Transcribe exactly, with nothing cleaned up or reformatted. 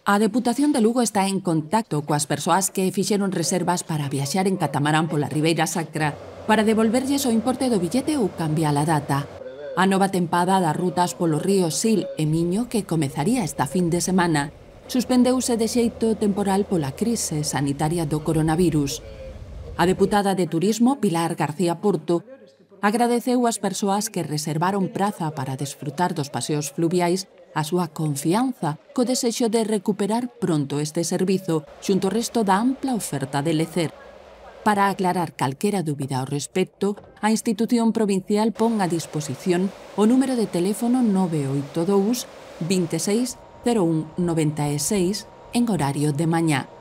A Deputación de Lugo está en contacto coas persoas que fixeron reservas para viaxar en catamarán pola Ribeira Sacra para devolverlles o importe do billete ou cambiar a data. A nova tempada das rutas polo río Sil e Miño, que comezaría esta fin de semana, suspendeuse de xeito temporal pola crise sanitaria do coronavirus. A deputada de Turismo, Pilar García Porto, agradeceu ás persoas que reservaron praza para desfrutar dos paseos fluviais a súa confianza co desexo de recuperar pronto este servizo xunto ao resto da ampla oferta de lecer. Para aclarar calquera dúbida ao respecto, a institución provincial pon a disposición o número de teléfono nove oito dous, vinte e seis, cero un, noventa e seis en horario de mañá.